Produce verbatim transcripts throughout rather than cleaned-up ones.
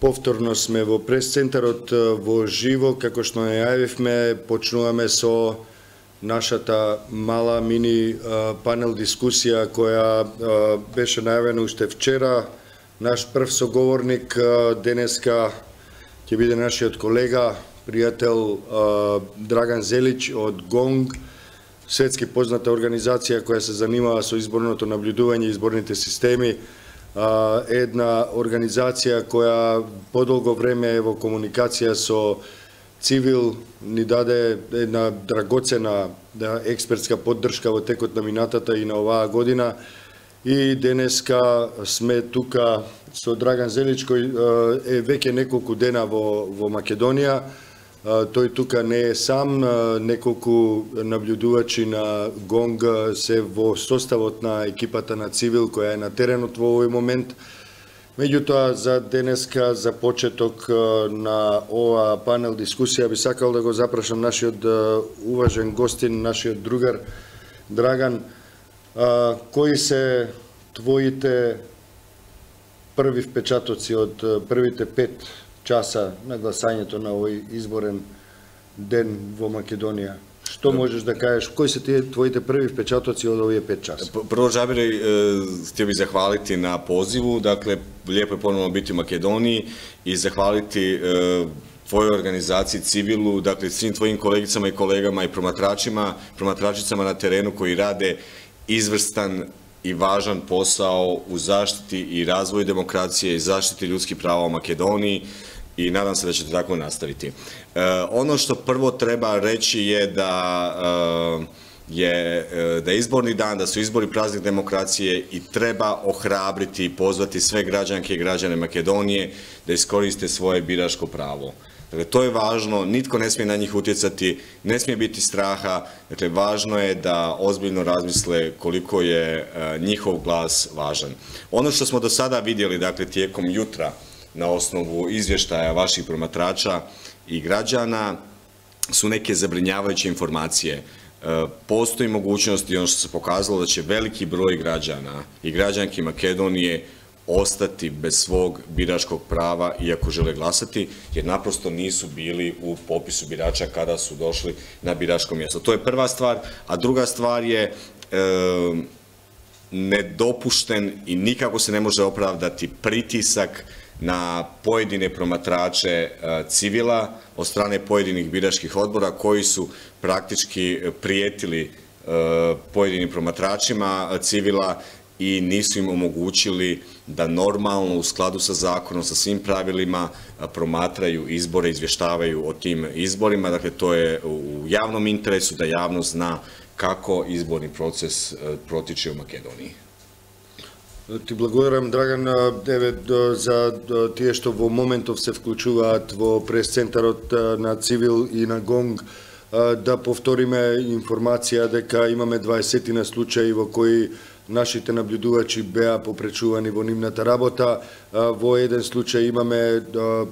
Повторно сме во прес-центарот во живо, како што најавивме, почнуваме со нашата мала мини панел дискусија која беше најавена уште вчера. Наш прв соговорник денеска ќе биде нашиот колега, пријател Драган Зелич од ГОНГ, светски позната организација која се занимава со изборното наблюдување и изборните системи. Една организација која подолго време е во комуникација со цивил, ни даде една драгоцена експертска поддршка во текот на минатата и на оваа година. И денеска сме тука со Драган Зелич, кој е веќе неколку дена во, во Македонија. Тој тука не е сам, неколку наблюдувачи на ГОНГ се во составот на екипата на цивил која е на теренот во овој момент. Меѓутоа, за денеска, за почеток на ова панел дискусија, би сакал да го запрашам нашиот уважен гостин, нашиот другар Драган. Кои се твоите први впечатоци од првите пет часа на гласањето на овој изборен ден во Македонија? Што можеш да кажеш? Кои се тие твоите први впечатоци од овие пет часа? Прво, Жабире, ќе ви захвалити на позиву. Дакле, лепо е поновно бити у Македонiji и захвалити твојој организацији Цивилу, дакле, свим твојим колегицама и колегама и проматрачима, проматрачицама на терену кои раде изврстан и важан посао у заштити и развоju демокраcije i zaštiti ljudskih prava u Makedoniji i nadam se da ćete tako nastaviti. E, ono što prvo treba reći je da e, je da je izborni dan, da su izbori praznik demokracije i treba ohrabriti i pozvati sve građanke i građane Makedonije da iskoriste svoje biračko pravo. Dakle, to je važno, nitko ne smije na njih utjecati, ne smije biti straha, dakle, važno je da ozbiljno razmisle koliko je e, njihov glas važan. Ono što smo do sada vidjeli, dakle, tijekom jutra, na osnovu izvještaja vaših promatrača i građana, su neke zabrinjavajuće informacije. E, postoji mogućnost i ono što se pokazalo da će veliki broj građana i građanki Makedonije ostati bez svog biračkog prava iako žele glasati, jer naprosto nisu bili u popisu birača kada su došli na biračko mjesto. To je prva stvar, a druga stvar je e, nedopušten i nikako se ne može opravdati pritisak na pojedine promatrače e, civila od strane pojedinih biračkih odbora koji su praktički prijetili e, pojedinim promatračima civila i nisu im omogućili da normalno, u skladu sa zakonom, sa svim pravilima, promatraju izbore, izvještavaju o tim izborima. Dakle, to je u javnom interesu da javnost zna kako izborni proces protiče u Makedoniji. Ти благодарам, Драган, еве за тие што во моментов се вклучуваат во прес-центарот на Цивил и на ГОНГ, да повториме информација дека имаме дваесет случаи во кои нашите наблюдувачи беа попречувани во нивната работа. Во еден случај имаме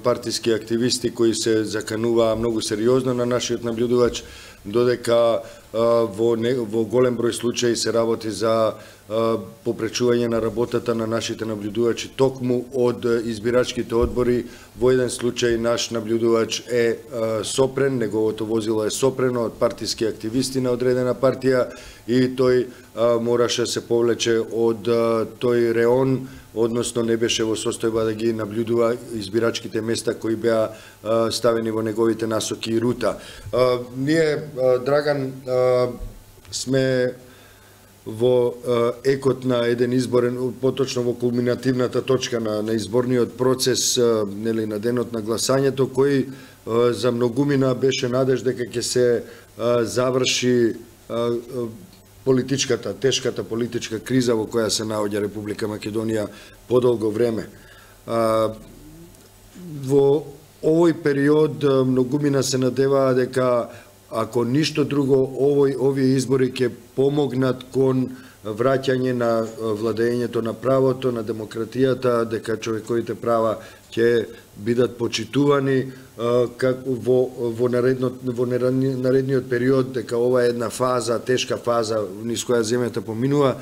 партиски активисти кои се закануваа многу сериозно на нашиот наблюдувач, додека во, не, во голем број случаи се работи за попречување на работата на нашите наблюдувачи токму од избирачките одбори. Во еден случај наш наблюдувач е сопрен, неговото возило е сопрено од партиски активисти на одредена партија и тој мораше се повлече од тој реон, односно не беше во состојба да ги наблюдува избирачките места кои беа ставени во неговите насоки и рута. Ние, Драган, сме во екот на еден изборен, поточно во кулминативната точка на, на изборниот процес, нели, на денот на гласањето, кој за многумина беше надеж дека ќе се заврши политичката, тешката политичка криза во која се наоѓа Република Македонија подолго време. Во овој период многумина се надеваа дека ако ништо друго, овој овие избори ќе помогнат кон враќање на владењето на правото, на демократијата, дека човековите права ќе бидат почитувани како во во наредно во наредниот период, дека ова е една фаза, тешка фаза низ која земјата поминува.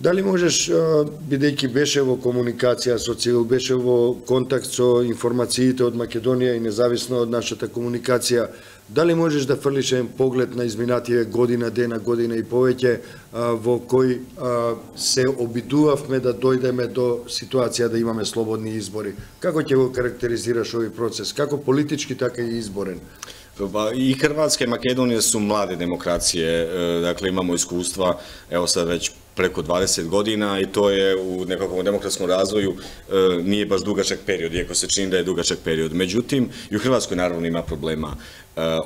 Дали можеш, бидејќи беше во комуникација со Цивил, беше во контакт со информациите од Македонија и независно од нашата комуникација, дали можеш да фрлиш еден поглед на изминативе година, дена, година и повеќе, во кој се обидувавме да дојдеме до ситуација да имаме слободни избори? Како ќе го карактеризираш овој процес? Како политички, така и изборен? I Hrvatska i Makedonija su mlade demokracije, dakle imamo iskustva, evo sad već preko dvadeset godina i to je u nekakvom demokratskom razvoju nije baš dugačak period, iako se čini da je dugačak period. Međutim, i u Hrvatskoj naravno ima problema.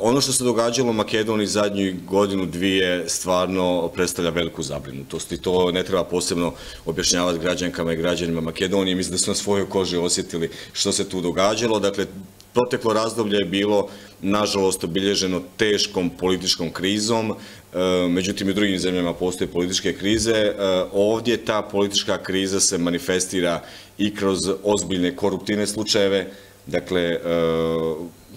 Ono što se događalo u Makedoniji zadnju godinu, dvije, stvarno predstavlja veliku zabrinutost i to ne treba posebno objašnjavati građankama i građanima Makedonije. Mislim da su na svojoj koži osjetili što se tu događalo. Dakle, proteklo razdoblje je bilo, nažalost, obilježeno teškom političkom krizom, međutim i u drugim zemljama postoje političke krize. Ovdje ta politička kriza se manifestira i kroz ozbiljne koruptivne slučajeve, dakle,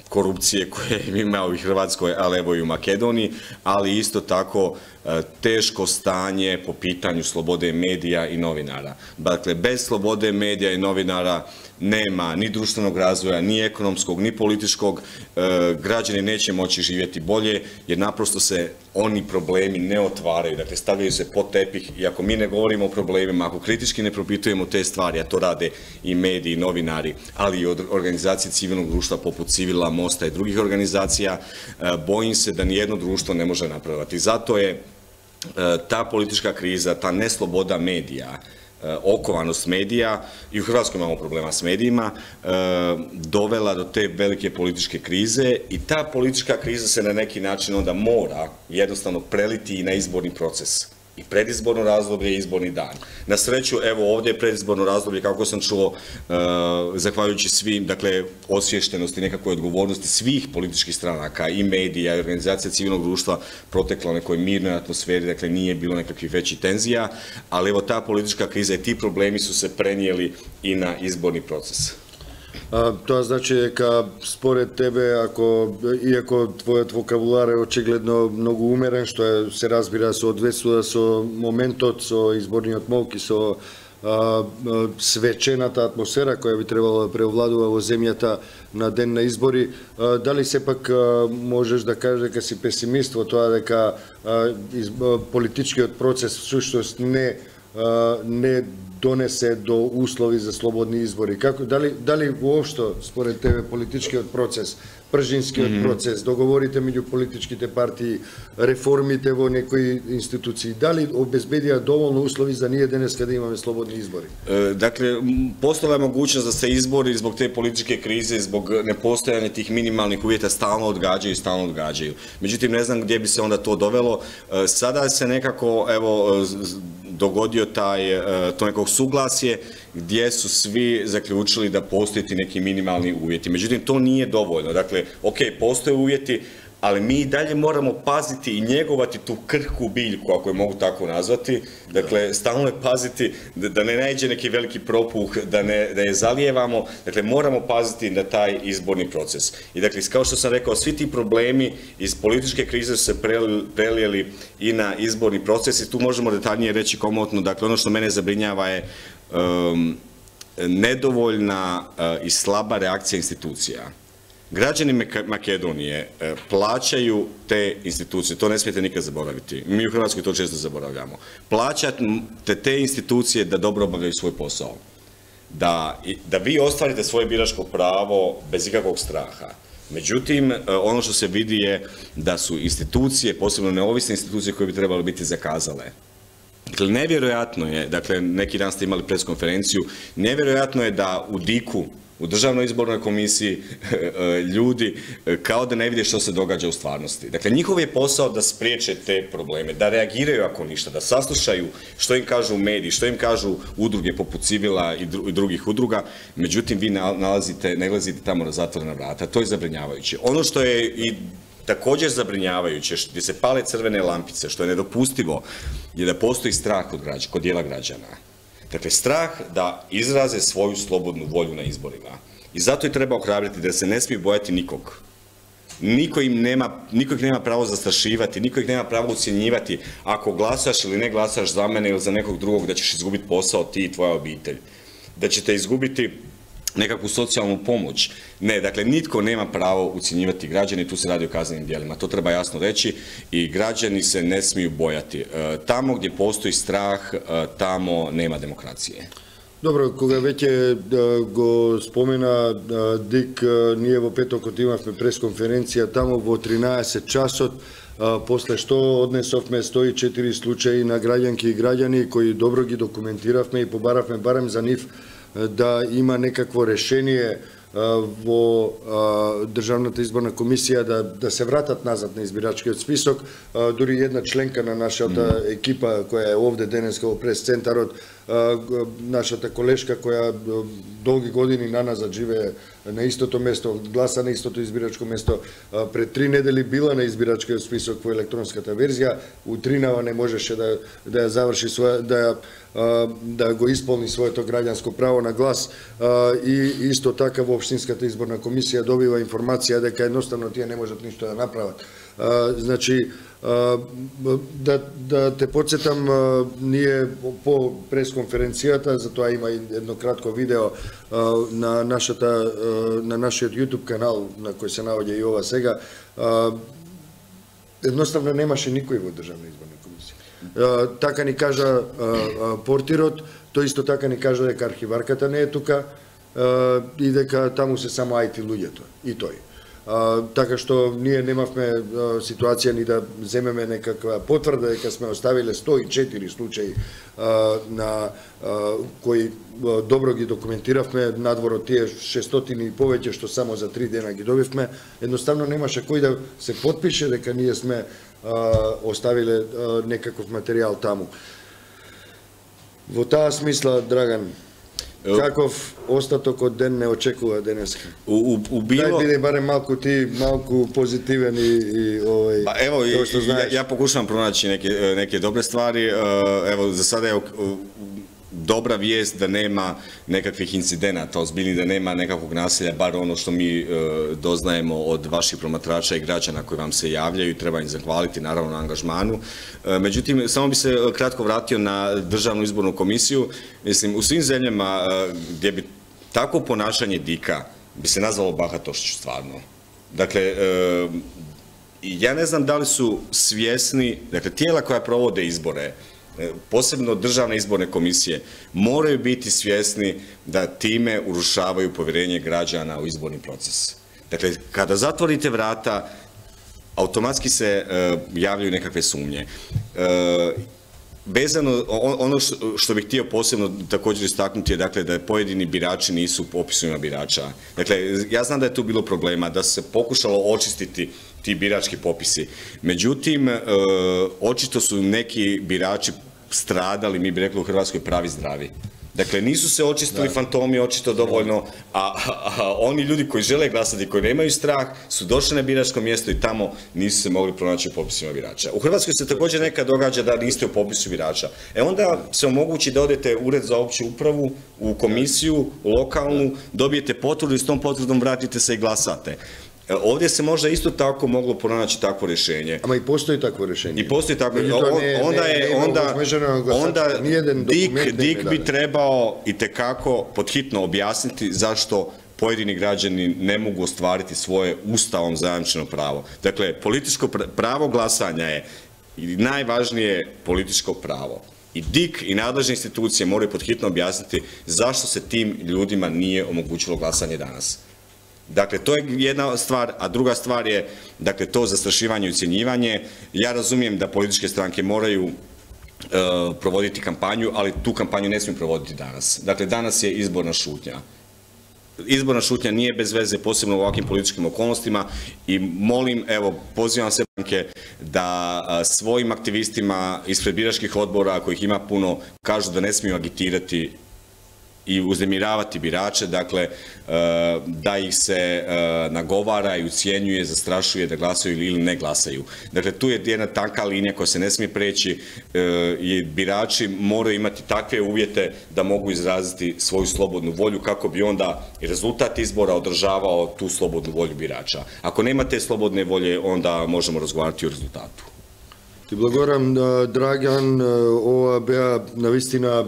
korupcije koje ima u Hrvatskoj, ali evo i u Makedoniji, ali isto tako teško stanje po pitanju slobode medija i novinara. Dakle, bez slobode medija i novinara nema ni društvenog razvoja, ni ekonomskog, ni političkog, građani neće moći živjeti bolje, jer naprosto se oni problemi ne otvaraju, dakle stavljaju se pod tepih i ako mi ne govorimo o problemima, ako kritički ne propitujemo te stvari, a to rade i mediji, i novinari, ali i organizacije civilnog društva poput Civila, Mosta i drugih organizacija, bojim se da nijedno društvo ne može napraviti. Zato je ta politička kriza, ta nesloboda medija, okovanost medija, i u Hrvatskoj imamo problema s medijima, dovela do te velike političke krize i ta politička kriza se na neki način onda mora jednostavno preliti i na izborni proces. I predizborno razdoblje i izborni dan. Na sreću, evo ovdje je predizborno razdoblje, kako sam čuo, zahvaljujući svim, dakle, osviještenosti, nekakvoj odgovornosti svih političkih stranaka i medija i organizacija civilnog društva protekla u nekoj mirnoj atmosferi, dakle nije bilo nekakvih većih tenzija, ali evo ta politička kriza i ti problemi su se prenijeli i na izborni proces. Тоа значи дека според тебе, ако иако твојот вокабулар е очигледно многу умерен, што е, се разбира, соодветствува со моментот, со изборниот молк и со а, свечената атмосфера која би требало да преовладува во земјата на ден на избори, а, дали сепак а, можеш да кажеш дека си песимист во тоа дека а, из, а, политичкиот процес всушност не а, не донесе до услови за слободни избори? Како, дали, дали воопшто, според тебе, политичкиот процес, пржинскиот mm -hmm. процес, договорите меѓу политичките партии, реформите во некои институции, дали обезбедија доволно услови за ние денеска да имаме слободни избори? Dakle, postojala je mogućnost da se izbori zbog te političke krize, zbog nepostojanja tih minimalnih uvjeta stalno odgađaju i stalno odgađaju. Međutim, ne znam gdje bi se onda to dovelo. Sada se nekako, evo, dogodio taj, to nekog suglasje gdje su svi zaključili da postoje ti neki minimalni uvjeti. Međutim, to nije dovoljno. Dakle, ok, postoje uvjeti, ali mi i dalje moramo paziti i njegovati tu krhku biljku, ako je mogu tako nazvati. Dakle, stalno je paziti da ne naiđe neki veliki propuh, da, ne, da je zalijevamo. Dakle, moramo paziti na taj izborni proces. I dakle, kao što sam rekao, svi ti problemi iz političke krize su se prelijeli i na izborni proces i tu možemo detaljnije reći komotno. Dakle, ono što mene zabrinjava je um, nedovoljna uh, i slaba reakcija institucija. Građani Makedonije plaćaju te institucije, to ne smijete nikad zaboraviti. Mi u Hrvatskoj to često zaboravljamo. Plaćate te institucije da dobro obavljaju svoj posao. Da, da vi ostvarite svoje biračko pravo bez ikakvog straha. Međutim, ono što se vidi je da su institucije, posebno neovisne institucije koje bi trebale biti zakazale. Dakle, nevjerojatno je, dakle, neki dan ste imali preskonferenciju, nevjerojatno je da u diku, u Državnoj izbornoj komisiji, ljudi kao da ne vide što se događa u stvarnosti. Dakle, njihov je posao da spriječe te probleme, da reagiraju ako ništa, da saslušaju što im kažu mediji, što im kažu udruge poput Civila i drugih udruga, međutim, vi nalazite, nalazite tamo na zatvorena vrata. To je zabrinjavajuće. Ono što je i također zabrinjavajuće, gdje se pale crvene lampice, što je nedopustivo, je da postoji strah kod, građa, kod dijela građana. Dakle, strah da izraze svoju slobodnu volju na izborima. I zato je treba ohrabriti da se ne smije bojati nikog. niko im nema, niko ih nema pravo zastrašivati, niko ih nema pravo ucjenjivati ako glasaš ili ne glasaš za mene ili za nekog drugog da ćeš izgubiti posao ti i tvoja obitelj, da ćete izgubiti nekakvu socijalnu pomoć. Ne, dakle, nitko nema pravo ucjenjivati građane, tu se radi o kaznenim djelima. To treba jasno reći i građani se ne smiju bojati. Tamo gdje postoji strah, tamo nema demokracije. Dobro, кога веќе го спомена Дик, ние во петокот имавме пресконференција тамо во тринаесет часот, после што однесовме сто и четири случаи на граѓанки и граѓани кои добро ги документиравме и побаравме барем за нив да има некакво решение во Државната изборна комисија да, да се вратат назад на избирачкиот список. Дури една членка на нашата екипа која е овде денеска во прес-центарот, нашата колешка која долги години на назад живее на истото место, гласа на истото избирачко место, пред три недели била на избирачкиот список во електронската верзија, утринава не можеше да, да ја заврши своја, да, да го исполни своето граѓанско право на глас, и исто така во Општинската изборна комисија добива информација дека едноставно тие не можат ништо да направат. Значи, да, да те подсетам, ние по пресконференцијата, затоа има едно кратко видео на нашата на нашиот YouTube канал на кој се наоѓа и ова сега, едноставно немаше никој во Државна изборна комисија. Така ни кажа портирот, тој исто така ни кажа дека архиварката не е тука и дека таму се само ай ти луѓето и тој. Uh, така што ние немавме uh, ситуација ни да земеме некаква потврда дека сме оставиле сто и четири случаи uh, на uh, кои uh, добро ги документиравме, надвор од тие шестстотини и повеќе што само за три дена ги добивме. Едноставно немаше кој да се потпише дека ние сме uh, оставиле uh, некаков материјал таму. Во таа смисла, Драган, каков остаток од ден не очекува денеска? У, у, у било... Дај биде барем малку ти, малку позитивен и, и овој... Па ево, ја, ја покушавам пронаći неке, неке добре ствари. Ево, за сада е добра виест да нема некаквих инцидената, озбилни да нема некаквog населја, бар оно што ми е, дознаемо од ваших проматрача и граđana кои вам се јављају и треба им захвалити наравно на ангажману. Е, меđutim, само би се кратко вратио на Државну изборну комисију. Мислим, у свим земљама гдje би тако понашање Дика би се назвало bahatošću stvarno. Dakle, e, ja ne znam da li su svjesni, dakle, tijela koja provode izbore, posebno državne izborne komisije, moraju biti svjesni da time urušavaju povjerenje građana u izborni proces. Dakle, kada zatvorite vrata, automatski se uh, javljaju nekakve sumnje. Uh, Vezano, ono što bih htio posebno također istaknuti je, dakle, da pojedini birači nisu u popisima birača. Dakle, ja znam da je tu bilo problema, da se pokušalo očistiti ti birački popisi. Međutim, e, očito su neki birači stradali, mi bi rekli u Hrvatskoj, pravi zdravi. Dakle, nisu se očistili da. fantomi očito dovoljno, a, a, a oni ljudi koji žele glasati, koji nemaju strah, su došli na biračko mjesto i tamo nisu se mogli pronaći u popisima birača. U Hrvatskoj se također nekad događa da niste u popisu birača. E onda se omogući da odete u ured za opću upravu, u komisiju, lokalnu, dobijete potvrdu i s tom potvrdom vratite se i glasate. Ovdje se možda isto tako moglo pronaći takvo rješenje. Ama i postoji takvo rješenje. I postoji takvo rješenje. Onda je, onda, onda Dik, Dik bi trebao itekako podhitno objasniti zašto pojedini građani ne mogu ostvariti svoje ustavom zajamčeno pravo. Dakle, političko pravo glasanja je najvažnije političko pravo. I Dik i nadležne institucije moraju podhitno objasniti zašto se tim ljudima nije omogućilo glasanje danas. Dakle, to je jedna stvar, a druga stvar je, dakle, to zastrašivanje i ucjenjivanje. Ja razumijem da političke stranke moraju uh, provoditi kampanju, ali tu kampanju ne smiju provoditi danas. Dakle, danas je izborna šutnja. Izborna šutnja nije bez veze, posebno u ovakvim političkim okolnostima, i molim, evo, pozivam sve stranke da uh, svojim aktivistima ispred biračkih odbora, kojih ima puno, kažu da ne smiju agitirati i uznemiravati birače, dakle, da ih se nagovara i ucijenjuje, zastrašuje da glasaju ili ne glasaju. Dakle, tu je jedna tanka linija koja se ne smije preći i birači moraju imati takve uvjete da mogu izraziti svoju slobodnu volju kako bi onda rezultat izbora održavao tu slobodnu volju birača. Ako nema te slobodne volje, onda možemo razgovarati o rezultatu. Ти благодарам, Драган, ова беа навистина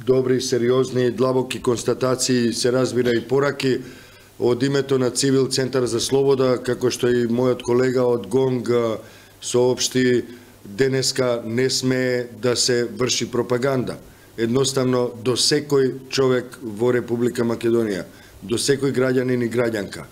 добри, сериозни, длабоки констатации, се разбира и пораки од името на Цивил Центар за слобода, како што и мојот колега од ГОНГ соопшти, денеска не сме да се врши пропаганда. Едноставно, до секој човек во Република Македонија, до секој граѓанин и граѓанка,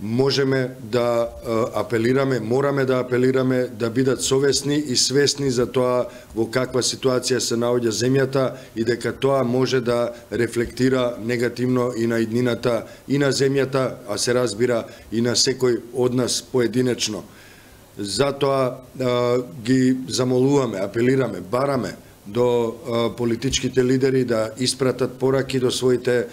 можеме да апелираме, мораме да апелираме да бидат совесни и свесни за тоа во каква ситуација се наоѓа земјата и дека тоа може да рефлектира негативно и на иднината и на земјата, а се разбира и на секој од нас поединечно. Затоа ги замолуваме, апелираме, бараме до политичките лидери да испратат пораки до своите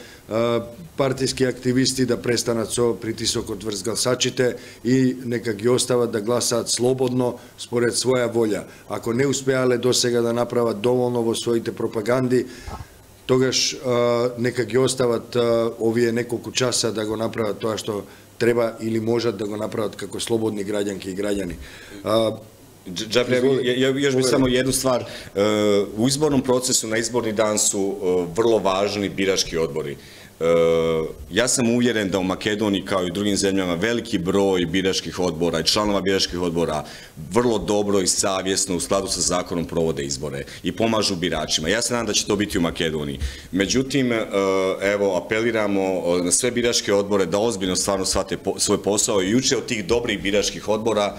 партиски активисти да престанат со притисокот врз гласачите и нека ги остават да гласаат слободно според своја волја. Ако не успеале досега да направат доволно во своите пропаганди, тогаш нека ги остават овие неколку часа да го направат тоа што треба или можат да го направат како слободни граѓанки и граѓани. Džabre, još bih samo jednu stvar. U izbornom procesu na izborni dan su vrlo važni birački odbori. Ja sam uvjeren da u Makedoniji kao i u drugim zemljama veliki broj biračkih odbora i članova biračkih odbora vrlo dobro i savjesno u skladu sa zakonom provode izbore i pomažu biračima. Ja se nadam da će to biti u Makedoniji. Međutim, evo, apeliramo na sve biračke odbore da ozbiljno stvarno shvate svoj posao i uče od tih dobrih biračkih odbora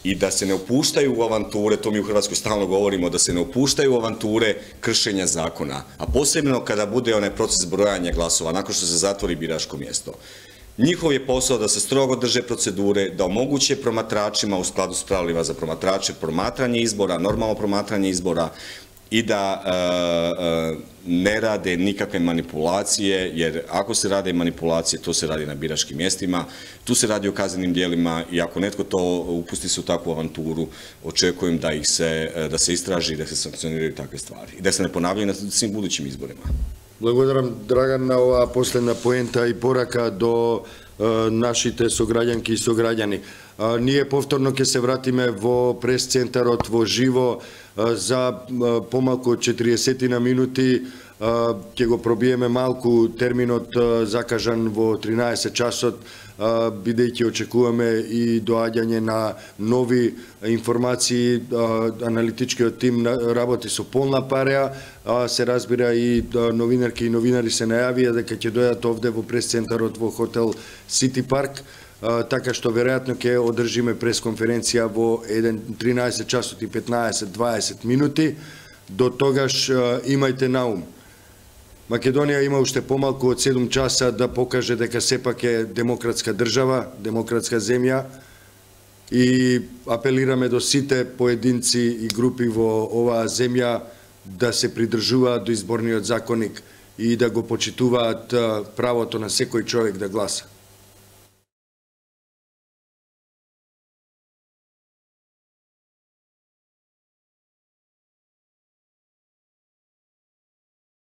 i da se ne upuštaju u avanture, to mi u Hrvatskoj stalno govorimo, da se ne upuštaju u avanture kršenja zakona, a posebno kada bude onaj proces brojanja glasova, nakon što se zatvori biračko mjesto. Njihov je posao da se strogo drže procedure, da omoguće promatračima u skladu s pravilima za promatrače promatranje izbora, normalno promatranje izbora i da ne rade nikakve manipulacije, jer ako se rade manipulacije, to se radi na biračkim mjestima, tu se radi o kaznenim djelima i ako netko to upusti se u takvu avanturu, očekujem da ih se, da se istraži i da se sankcioniraju takve stvari i da se ne ponavljaju na svim budućim izborima. Благодарам, Драган, на оваа последна поента и порака до нашите сограѓанки и сограѓани. Ние повторно ќе се вратиме во прес-центарот во живо за помалку од четириесет минути. Ќе го пробиеме малку терминот закажан во тринаесет часот, бидејќи очекуваме и доаѓање на нови информации. Аналитичкиот тим работи со полна пареа, се разбира и новинарки и новинари се најавија дека ќе дојдат овде во прес-центарот во хотел Сити Парк, така што веројатно ќе одржиме пресконференција во тринаесет часот и петнаесет до дваесет минути. До тогаш имајте на ум, Македонија има уште помалку од седум часа да покаже дека сепак е демократска држава, демократска земја и апелираме до сите поединци и групи во оваа земја да се придржуваат до изборниот законник и да го почитуваат правото на секој човек да гласа.